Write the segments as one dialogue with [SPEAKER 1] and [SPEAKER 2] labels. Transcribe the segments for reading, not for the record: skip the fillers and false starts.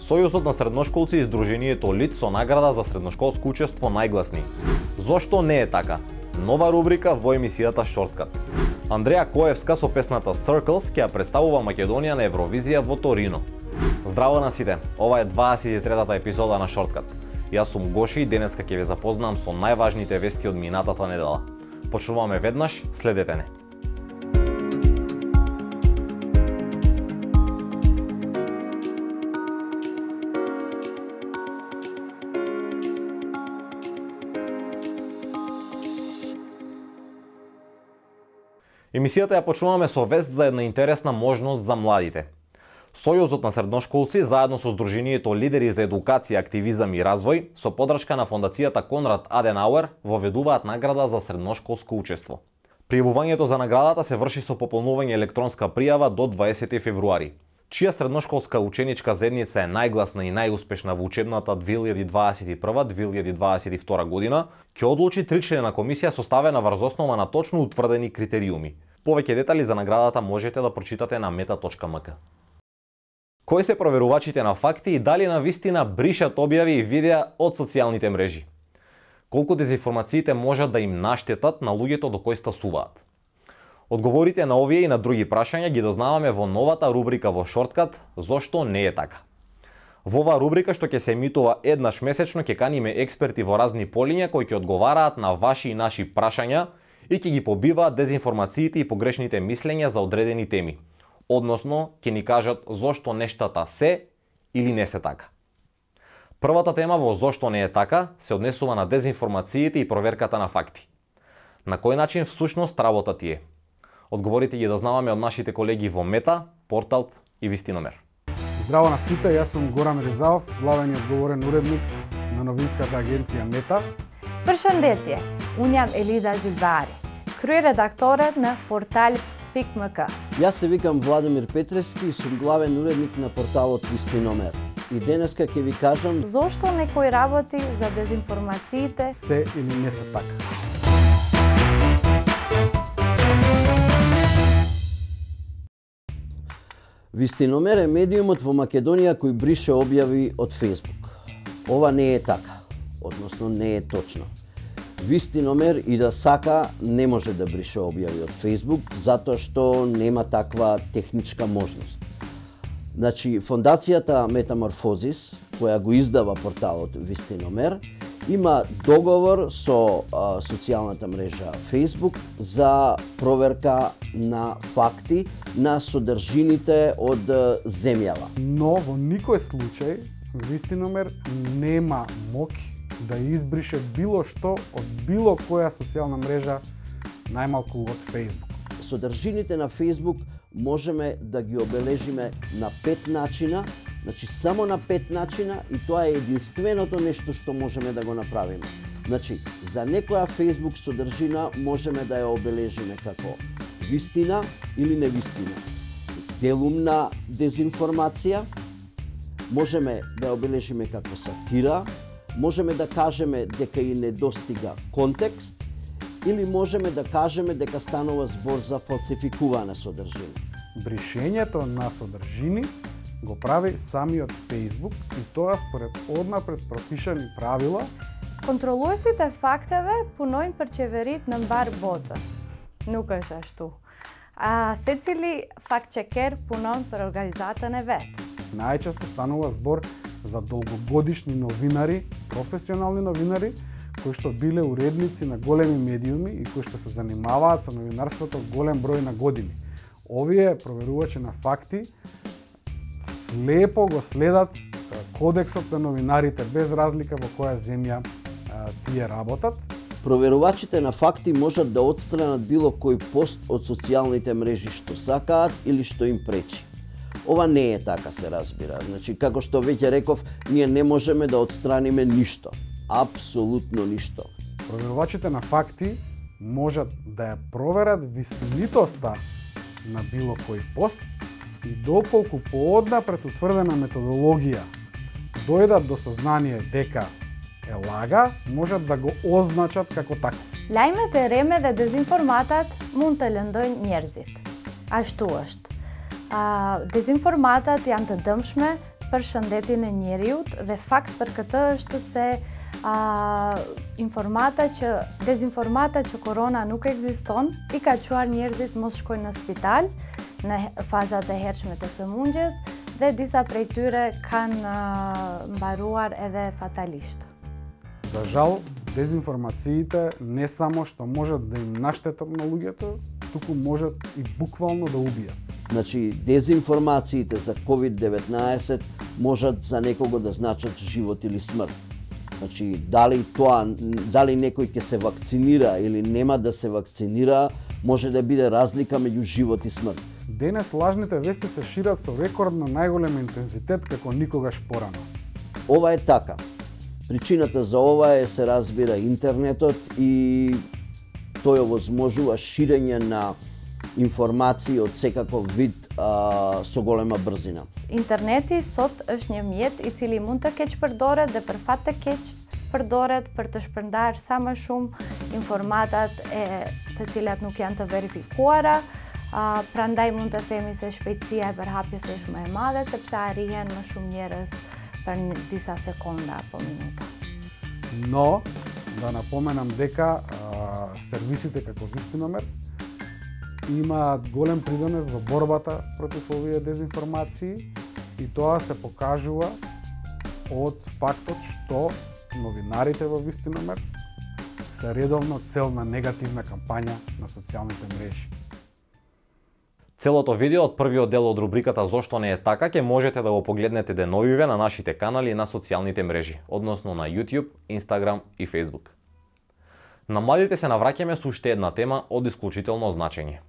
[SPEAKER 1] Сојузот на средношколци и Сдруженијето ЛИД со награда за средношколско учество најгласни. Зошто не е така? Нова рубрика во емисијата Шорткат. Андреја Коевска со песната Circles ќе ја представува Македонија на Евровизија во Торино. Здраво на сите, ова е 23-та епизода на Шорткат. Јас сум Гоши и денеска ќе ве запознам со најважните вести од минатата недела. Почнуваме веднаш, следете не. Емисијата ја почнуваме со вест за една интересна можност за младите. Сојузот на средношколци заедно со Сдруженијето Лидери за едукација, активизам и развој со подршка на фондацијата Конрад Аденауер воведуваат награда за средношколско учество. Пријавувањето за наградата се врши со пополнување електронска пријава до 20 февруари. Чија средношколска ученичка заедница е најгласна и најуспешна во учебната 2021-2022 година, ќе одлучи тричлена комисија составена врз основа на точно утврдени критериуми. Повеќе детали за наградата можете да прочитате на meta.mk. Кои се проверувачите на факти и дали на вистина бришат објави и видеа од социјалните мрежи? Колку дезинформациите можат да им наштетат на луѓето до кои стасуваат? Одговорите на овие и на други прашања ги дознаваме во новата рубрика во Шорткат «Зошто не е така?». Во оваа рубрика, што ќе се емитува еднаш месечно, ќе каниме експерти во разни полиња кои ќе одговараат на ваши и наши прашања и ќе ги побиваат дезинформациите и погрешните мислења за одредени теми. Односно, ќе ни кажат зошто нештата се или не се така. Првата тема во «Зошто не е така» се однесува на дезинформациите и проверката на факти. На кој начин всушност работа тие? Одговорите ги дознаваме од нашите колеги во Мета, Портал и Вистиномер.
[SPEAKER 2] Здраво на сите, јас сум Горан Резаов, главен и одговорен уредник на новинската агенција Мета.
[SPEAKER 3] Përshëndetje, unë jam Elida Gjilbari, kryeredaktore на Portal.mk.
[SPEAKER 4] Јас се викам Владимир Петрески и сум главен уредник на порталот Вистиномер. И денеска ќе ви кажам
[SPEAKER 3] Зошто некој работи за дезинформациите
[SPEAKER 2] се или не се така.
[SPEAKER 4] Вистиномер е медиумот во Македонија кој брише објави од Facebook. Ова не е така, односно не е точно. Вистиномер и да сака не може да брише објави од Facebook, затоа што нема таква техничка можност. Значи, фондацијата Метаморфозис, која го издава порталот Вистиномер, има договор со социјалната мрежа Facebook за проверка на факти на содржините од земјава.
[SPEAKER 2] Но во никој случај Вистиномер нема моќ да избрише било што од било која социјална мрежа, најмалку од Facebook.
[SPEAKER 4] Содржините на Facebook можеме да ги обележиме на 5 начина, значи само на 5 начина, и тоа е единственото нешто што можеме да го направиме. Значи, за некоја Facebook содржина можеме да ја обележиме како вистина или невистина. Делумна дезинформација, можеме да ја обележиме како сатира, можеме да кажеме дека и недостига контекст, или можеме да кажеме дека станува збор за фалсификувана содржина.
[SPEAKER 2] Бришењето на содржини го прави самиот Facebook и тоа според однапред пропишани правила.
[SPEAKER 3] Kontrolluesit e fakteve punojnë për qeverit në mbar botën. Nuk është ashtu. Secili fact-checker punon për organizatën e vet.
[SPEAKER 2] Најчесто станува збор за долгогодишни новинари, професионални новинари, кои што биле уредници на големи медиуми и кои што се занимаваат со новинарството голем број на години. Овие проверувачи на факти слепо го следат кодексот на новинарите без разлика во која земја тие работат.
[SPEAKER 4] Проверувачите на факти можат да отстранат било кој пост од социјалните мрежи што сакаат или што им пречи. Ова не е така, се разбира. Значи, како што веќе реков, ние не можеме да отстраниме ништо. Апсолутно ништо.
[SPEAKER 2] Проверувачите на факти можат да ја проверат вистинитоста на било кој пост и доколку пооднапред утврдена методологија дојдат до сознание дека е лага, можат да го означат како таков.
[SPEAKER 3] Lajmet e rreme dhe dezinformatat mund të lëndojnë njerëzit. Ashtu është. Dezinformatat janë të dëmshme përshëndetin e njeriut dhe fakt për këtë është se dezinformata që korona nuk ekziston, i ka çuar njerëzit mos shkojnë në spital në fazat e hershme të sëmundjes dhe disa prej tyre kanë mbaruar edhe fatalisht.
[SPEAKER 2] За жал, дезинформациите не само што можат да им наштетат на луѓето, туку можат и буквално да убијат.
[SPEAKER 4] Значи, дезинформациите за COVID-19 можат за некого да значат живот или смрт. Значи, дали некој ќе се вакцинира или нема да се вакцинира, може да биде разлика меѓу живот и смрт.
[SPEAKER 2] Денес лажните вести се шират со рекордно најголем интензитет како никогаш порано.
[SPEAKER 4] Ова е така. Причината за ова е, се разбира, интернетот и тој овозможува ширење на информации од секаков вид со голема брзина.
[SPEAKER 3] Интернети sot është një mjet i cili mund të keq përdoret dhe për fat të keq përdoret për të shpërndarë sa më shumë informatat të cilat nuk janë të verifikuara. Prandaj mund të themi se shpejtësia e përhapjes është më e madhe sepse arrihen më shumë njerëz për disa sekonda apo minuta.
[SPEAKER 2] Но, да напоменам дека сервисите како Вистиномер имаат голем придонес во борбата против овие дезинформации и тоа се покажува од фактот што новинарите во Вистиномер се редовно цел на негативна кампања на социјалните мрежи.
[SPEAKER 1] Целото видео од првиот дел од рубриката Зошто не е така ќе можете да го погледнете деновиве на нашите канали на социјалните мрежи, односно на YouTube, Instagram и Facebook. На младите се навраќаме со уште една тема од исклучително значење.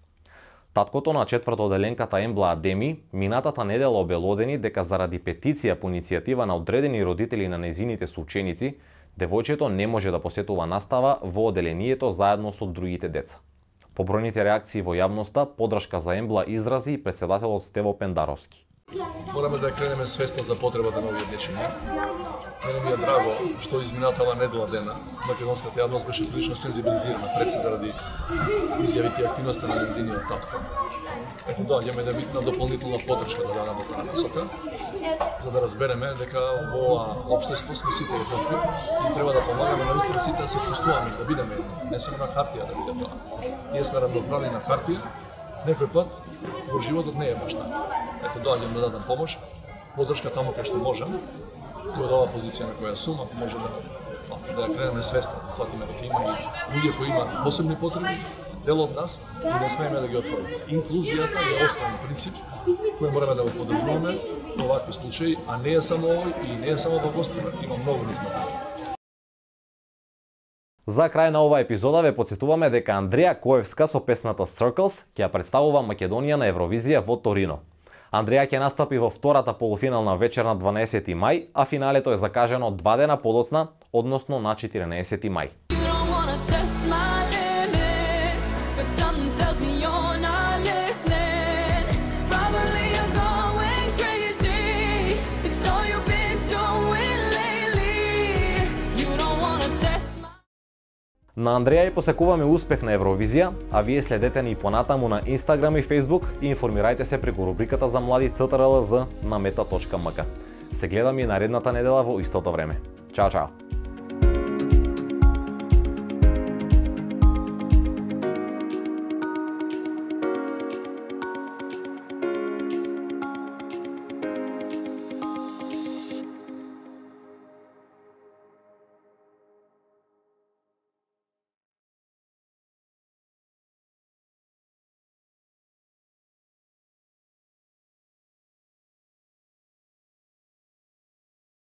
[SPEAKER 1] Таткото на четвртоделенката Ембла Адеми минатата недела обелодени дека заради петиција по иницијатива на одредени родители на нејзините соученици, девојчето не може да посетува настава во оделението заедно со другите деца. По бројните реакции во јавноста, поддршка за Ембла изрази и претседателот Стево Пендаровски.
[SPEAKER 5] Мораме да кренеме свеста за потребата на овие дечиња. Мене ми е драго што изминатава недела дена македонската јавност беше прилично сензибилизирана пред се заради изјавите и активноста на нејзиниот татко. Ето доаѓаме да видиме дополнителна поддршка да дадаме во таа насока, за да разбереме дека во општество сме сите еднакви и треба да помагаме на вистина сите да се чувствуваме, да бидеме не само на хартија да биде тоа. Ние сме равноправни на хартија, некој пат во животот не е баш така. Ето доаѓам да дадам помош, поддршка таму кај што можам и од оваа позиција на која сум, ако може да кренеме свеста, да сватиме дека има и луѓе кои имаат посебни потреби, дел од нас и не смееме да ги отвориме. Инклузијата е основен принцип кој мораме да го поддржуваме во овакви случаи, а не е само овој и не е само во гостина, има многу низ на.
[SPEAKER 1] За крај на оваа епизода ве потсетуваме дека Андреја Коевска со песната Circles ќе ја представува Македонија на Евровизија во Торино. Андреја ќе настапи во втората полуфинална вечер на 12 мај, а финалето е закажано 2 дена подоцна, односно на 14 мај. На Андреја и посекуваме успех на Евровизија, а вие следете ни понатаму на Instagram и Facebook и информирајте се преку рубриката за млади CTRLZ на meta.mk. Се гледаме и наредната недела во истото време. Чао, чао!